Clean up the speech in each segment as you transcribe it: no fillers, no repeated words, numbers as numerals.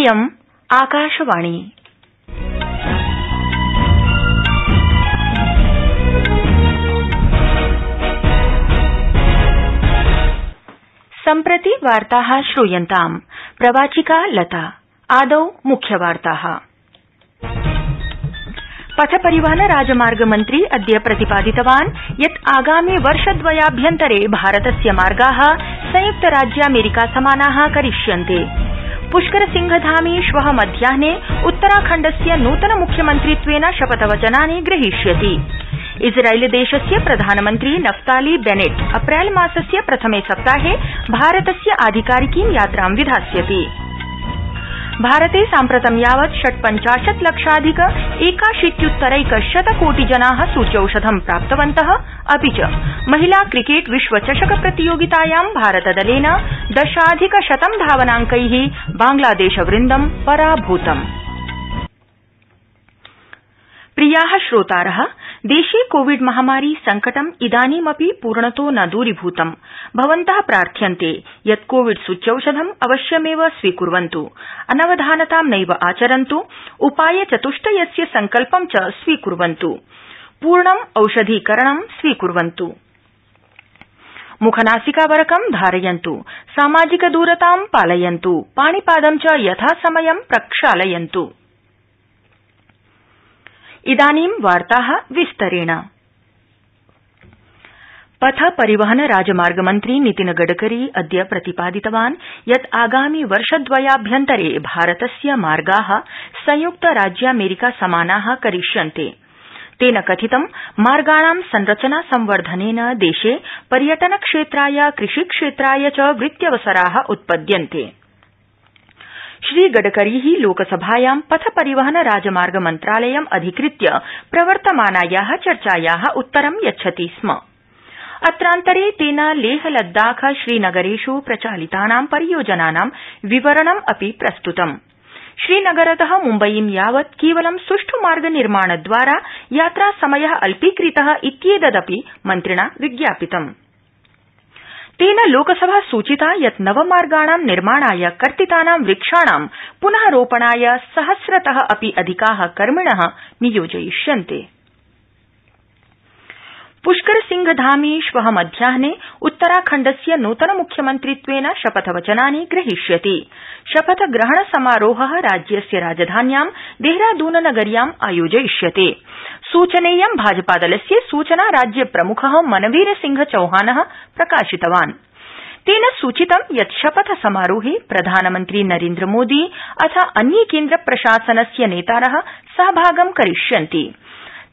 इयम् आकाशवाणी। सम्प्रति वार्ताः श्रूयन्ताम्। प्रवाचिका लता। आदौ मुख्यवार्ताः। पथ परिवहन राजमार्ग मन्त्री अद्य प्रतिपादितवान् यत् आगामि वर्षद्वयाभ्यन्तरे भारतस्य मार्गाः संयुक्त राज्यामेरिका समानाः करिष्यन्ते। पुष्कर सिंह धामी श्वः मध्याह्ने उत्तराखण्डस्य नूतन मुख्यमन्त्रित्वेन शपथवचनानि ग्रहीष्यति। इस्राइलदेशस्य प्रधानमन्त्री नफ्ताली बेनेट अप्रैल मासस्य प्रथमे सप्ताहे भारतस्य आधिकारिकीं यात्रां विधास्यति। भारते साम्प्रतं यावत् 58 लक्षाधिक 81 कोटि जनाः सूच्यौषधं प्राप्तवन्तः। अपि च महिला क्रिकेट विश्वचषक प्रतियोगितायां भारतदलेन 10,100 धावनांकैः बांग्लादेशवृन्दं पराभूतम्। प्रियाः श्रोतारः, देशे कोविड महामारी संकटम् इदानीमपि पूर्णतो न दूरीभूतम्। भवन्तः प्रार्थ्यन्ते यत् कोविड सूच्यौषधम् अवश्यमेव स्वीकुर्वन्तु, अनवधानतां नैव आचरन्तु, उपाय चतुष्टयस्य संकल्पं च स्वीकुर्वन्तु, पूर्णम् औषधीकरणं स्वीकुर्वन्तु, मुखनासिकावरकं धारयन्तु, सामाजिकदूरतां पालयन्तु, पाणिपादं च यथासमयं प्रक्षालयन्तु। इदानीं वार्ताः विस्तरेण। पथ परिवहन राजमार्ग मन्त्री नितिन गडकरी अद्य प्रतिपादितवान् यत् आगामि वर्षद्वयाभ्यन्तरे भारतस्य मार्गाः संयुक्त राज्यामेरिका समानाः करिष्यन्ते। तेन कथितं मार्गाणां संरचना संवर्धनेन देशे पर्यटनक्षेत्राय कृषिक्षेत्राय च वृत्त्यवसराः उत्पद्यन्ते। श्रीगडकरी लोकसभायां पथ परिवहन राजमार्ग मन्त्रालयम् अधिकृत्य प्रवर्तमानायाः चर्चायाः उत्तरं यच्छति स्म। अत्रान्तरे तेन लेह लद्दाख श्रीनगरेष् प्रचालितानां परियोजनानां विवरणम् अपि प्रस्तुतम्। श्रीनगरतः मुम्बयीं यावत् केवलं सुष्ठु मार्ग निर्माणद्वारा यात्रासमयः अल्पीकृतः इत्येतदपि मन्त्रिणा विज्ञापितम्। तेन लोकसभा सूचिता यत् नवमार्गाणां निर्माणाय कर्तितानां वृक्षाणां पुनः रोपणाय सहस्रतः अपि अधिकाः कर्मिणः नियोजयिष्यन्ते। पुष्कर सिंह धामी श्वः मध्याह्ने उत्तराखण्डस्य नूतन मुख्यमन्त्रित्वेन शपथवचनानि ग्रहीष्यति। शपथग्रहण समारोहः राज्यस्य राजधान्यां देहरादून नगर्याम् आयोजयिष्यते। सूचनेयं भाजपादलस्य सूचना राज्य प्रमुखः मनवीर सिंह चौहानः प्रकाशितवान्। तेन सूचितं यत् शपथ समारोहे प्रधानमन्त्री नरेन्द्र मोदी अथ अन्ये केन्द्र प्रशासनस्य नेतारः सहभागं करिष्यन्ति।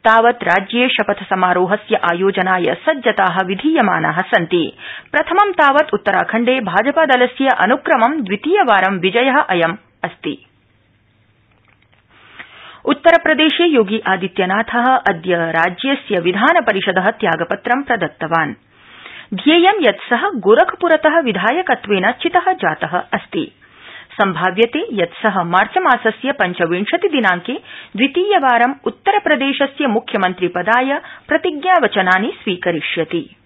तावत् राज्ये शपथ समारोहस्य आयोजनाय सज्जताः विधीयमानाः सन्ति। प्रथमं तावत् उत्तराखण्डे भाजपादलस्य अनुक्रमं द्वितीयवारं विजयः अयम् अस्ति। उत्तरप्रदेशे योगी आदित्यनाथः अद्य राज्यस्य विधानपरिषदः त्यागपत्रं प्रदत्तवान्। ध्येयं यत् सः गोरखपुरतः विधायकत्वेन चितः जातः अस्ति। सम्भाव्यते यत् सः मार्चमासस्य 25 दिनांके द्वितीयवारं उत्तरप्रदेशस्य मुख्यमन्त्रिपदाय प्रतिज्ञावचनानि स्वीकरिष्यति।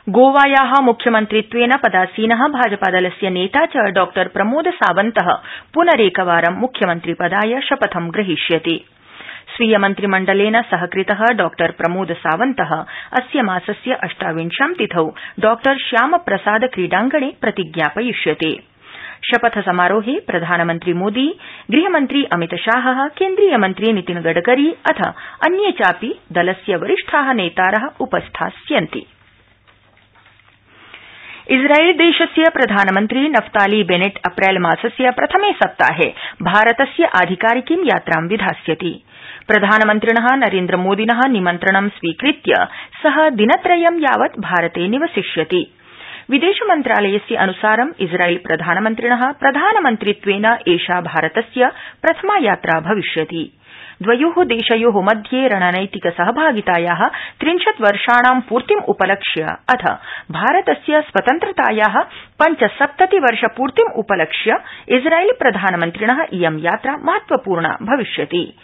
गोवायाः मुख्यमन्त्रित्वेन पदासीनः भाजपादलस्य नेता च डॉ प्रमोद सावन्तः पुनरेकवारं मुख्यमन्त्रिपदाय शपथं ग्रहीष्यति। स्वीय मन्त्रिमण्डलेन सहकृतः डॉ प्रमोद सावन्तः अस्य मासस्य 28 तिथौ डॉ श्यामप्रसाद क्रीडांगणे प्रतिज्ञापयिष्यते। शपथ समारोहे प्रधानमन्त्री मोदी, गृहमन्त्री अमितशाहः, केन्द्रीय मन्त्री नितिन गडकरी अथ अन्ये चापि दलस्य वरिष्ठाः नेतारः उपस्थास्यन्ति। इस्राइलदेशस्य प्रधानमन्त्री नफ्ताली बेनेट अप्रैल मासस्य प्रथमे सप्ताहे भारतस्य आधिकारिकीं यात्रां विधास्यति। प्रधानमन्त्रिणः नरेन्द्रमोदिनः निमन्त्रणं स्वीकृत्य सः दिनत्रयं यावत् भारते निवसिष्यति। विदेशमन्त्रालयस्य अनुसारं इस्राइल प्रधानमन्त्रिणः प्रधानमन्त्रित्वेन एषा भारतस्य प्रथमा यात्रा भविष्यति। द्वयोः देशयोः मध्ये रणनैतिक सहभागितायाः 30 वर्षाणां पूर्तिम् उपलक्ष्य अथ भारतस्य स्वतन्त्रतायाः 75 वर्षपूर्तिम् उपलक्ष्य इस्राइल प्रधानमन्त्रिणः इयं यात्रा महत्वपूर्णा भविष्यति।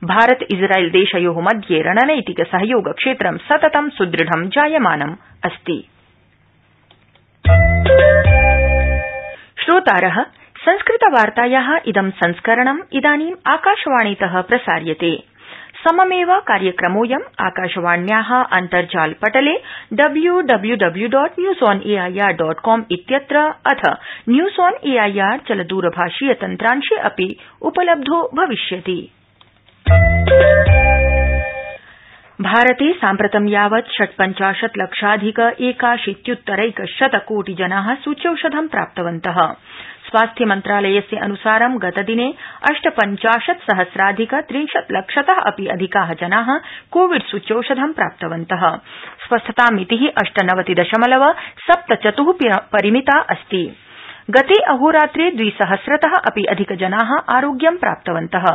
भारत इस्राइल देशयोः मध्ये रणनैतिक सहयोग क्षेत्रं सततं सुदृढं जायमानम् अस्ति। श्रोतारः, संस्कृतवार्तायाः इदं संस्करणम् इदानीम् आकाशवाणीतः प्रसार्यते। सममेव कार्यक्रमोऽयम् आकाशवाण्याः अन्तर्जालपटले www.newsonair.com इत्यत्र अथ न्यूज ऑन एआईआर चलदूरभाषीय तन्त्रांशे अपि उपलब्धो भविष्यति। भारते साम्प्रतं यावत् 56 लक्षाधिक 81,100 कोटि जनाः सूच्यौषधं प्राप्तवन्तः। स्वास्थ्य मन्त्रालयस्य अनुसारं गतदिने 58 सहस्राधिक 30 लक्षतः अपि अधिकाः जनाः कोविड सूच्यौषधं प्राप्तवन्तः। स्वस्थतामितिः 98.74 परिमिता अस्ति। गते अहोरात्रे 2,000तः अपि अधिकजनाः आरोग्यं प्राप्तवन्तः।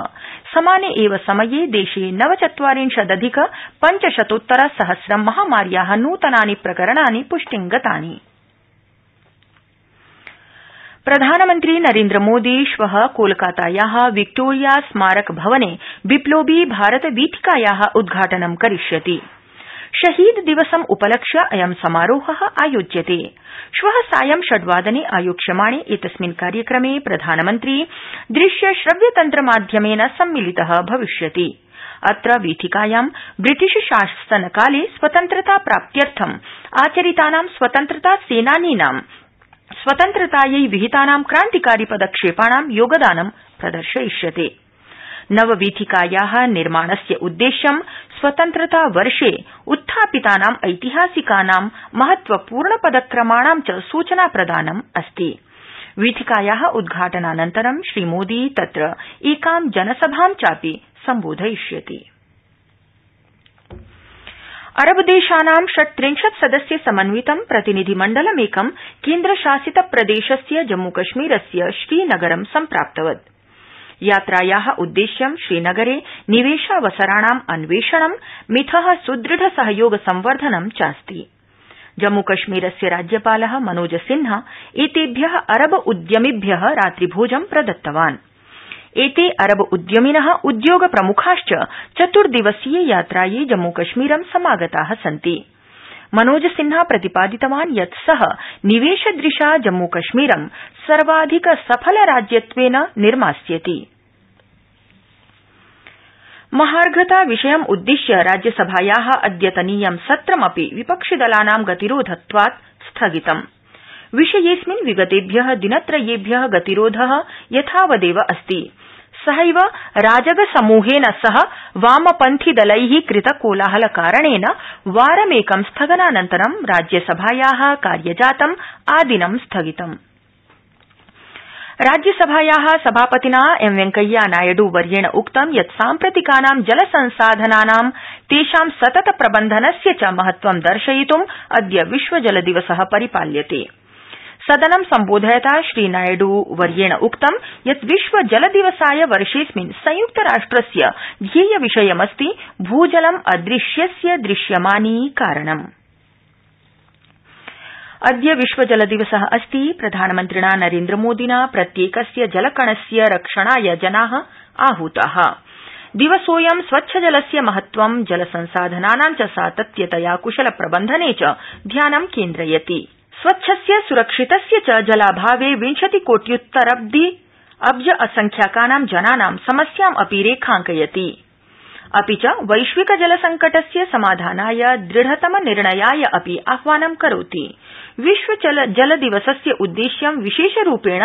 समाने एव समये देशे 49 500 सहस्रं महामार्याः नूतनानि प्रकरणानि पुष्टिं गतानि। प्रधानमन्त्री नरेन्द्रमोदी श्वः कोलकातायाः विक्टोरिया स्मारक भवने बिप्लोबी भारत वीथिकायाः उद्घाटनं करिष्यति। शहीद दिवसम् उपलक्ष्य अयं समारोहः आयोज्यते। श्वः सायं 6 वादने आयोक्ष्यमाणे एतस्मिन् कार्यक्रमे प्रधानमन्त्री दृश्य श्रव्य तन्त्रमाध्यमेन सम्मिलितः भविष्यति। अत्र वीथिकायां ब्रिटिश शासनकाले स्वतन्त्रता प्राप्त्यर्थम् आचरितानां स्वतन्त्रता सेनानीनां स्वतन्त्रतायै विहितानां क्रान्तिकारी पदक्षेपाणां योगदानं प्रदर्शयिष्यते। नववीथिकायाः निर्माणस्य उद्देश्यं स्वतन्त्रता वर्षे उत्थापितानां ऐतिहासिकानां महत्वपूर्ण पदक्रमाणां च सूचना प्रदानम् अस्ति। वीथिकायाः उद्घाटनानन्तरं श्रीमोदी तत्र एकां जनसभां चापि सम्बोधयिष्यति। अरबदेशानां 36 सदस्य समन्वितं प्रतिनिधिमण्डलमेकं केन्द्रशासित प्रदेशस्य जम्मूकश्मीरस्य श्रीनगरं सम्प्राप्तवत्। यात्रायाः उद्देश्यं श्रीनगरे निवेशावसराणाम् अन्वेषणं मिथः सुदृढ सहयोग संवर्धनं चास्ति। जम्मूकश्मीरस्य राज्यपालः मनोज सिन्हा एतेभ्यः अरब उद्यमिभ्यः रात्रिभोजं प्रदत्तवान्। एते अरब उद्यमिनः उद्योग प्रमुखाश्च 4 दिवसीय यात्रायै जम्मूकश्मीरं समागताः सन्ति। मनोज सिन्हा प्रतिपादितवान् यत् सः निवेशदृशा जम्मूकश्मीरं सर्वाधिक सफल राज्यत्वेन निर्मास्यति। महार्घता विषयम् उद्दिश्य राज्यसभायाः अद्यतनीयं सत्रमपि विपक्षिदलानां गतिरोधत्वात् स्थगितम्। विषयेऽस्मिन् विगतेभ्यः दिनत्रयेभ्यः गतिरोधः यथावदेव अस्ति। सहैव राजगसमूहेन सह वामपन्थीदलैः कृत कोलाहलकारणेन वारमेकं स्थगनानन्तरं राज्यसभायाः कार्यजातम् आदिनं स्थगितम्। राज्यसभायाः सभापतिना एम वेंकैया नायडू वर्येण उक्तं यत् साम्प्रतिकानां जलसंसाधनानां तेषां सतत प्रबन्धनस्य च महत्वं दर्शयितुम् अद्य विश्वजलदिवसः परिपाल्यते। सदनं सम्बोधयता श्रीनायडू वर्येण उक्तं यत् विश्वजलदिवसाय वर्षेऽस्मिन् संयुक्तराष्ट्रस्य ध्येयविषयमस्ति भूजलम् अदृश्यस्य दृश्यमानीकरणम्। अद्य विश्वजलदिवसः अस्ति। प्रधानमन्त्रिणा नरेन्द्रमोदिना प्रत्येकस्य जलकणस्य रक्षणाय जनाः आहूताः। दिवसोऽयं स्वच्छजलस्य महत्वं जलसंसाधनानां च सातत्यतया कुशलप्रबन्धने च ध्यानं केन्द्रयति। स्वच्छस्य सुरक्षितस्य च जलाभावे 20 कोट्युत्तरब्धि अब्ज असंख्याकानां जनानां समस्याम् अपि रेखांकयति। अपि च वैश्विक जलसंकटस्य समाधानाय दृढतम निर्णयाय अपि आह्वानं करोति। विश्व जलदिवसस्य उद्देश्यं विशेषरूपेण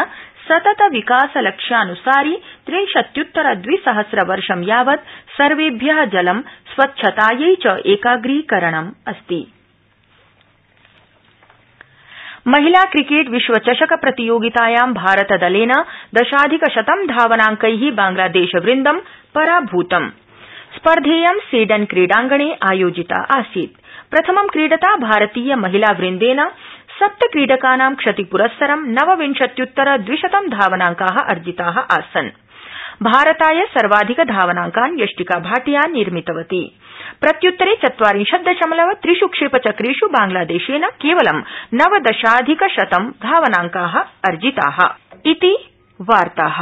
सतत विकासलक्ष्यानुसारि 63,200 वर्षं यावत् सर्वेभ्यः जलं स्वच्छतायै च एकाग्रीकरणम् अस्ति। महिला क्रिकेट विश्वचषक प्रतियोगितायां भारतदलेन 10,100 धावनांकैः बांग्लादेशवृन्दं पराभूतम्। स्पर्धेयं सेडन क्रीडांगणे आयोजिता आसीत्। प्रथमं क्रीडता भारतीय महिलावृन्देन 7 क्रीडकानां क्षतिपुरस्सरं 29,200 धावनांकाः अर्जिताः आसन्। भारताय सर्वाधिक धावनांकान् यष्टिका भाटिया निर्मितवती। प्रत्युत्तरे 40.3 क्षेपचक्रेष् बांग्लादेशेन केवलं 19,100 धावनांकाः अर्जिताः। इति वार्ताः।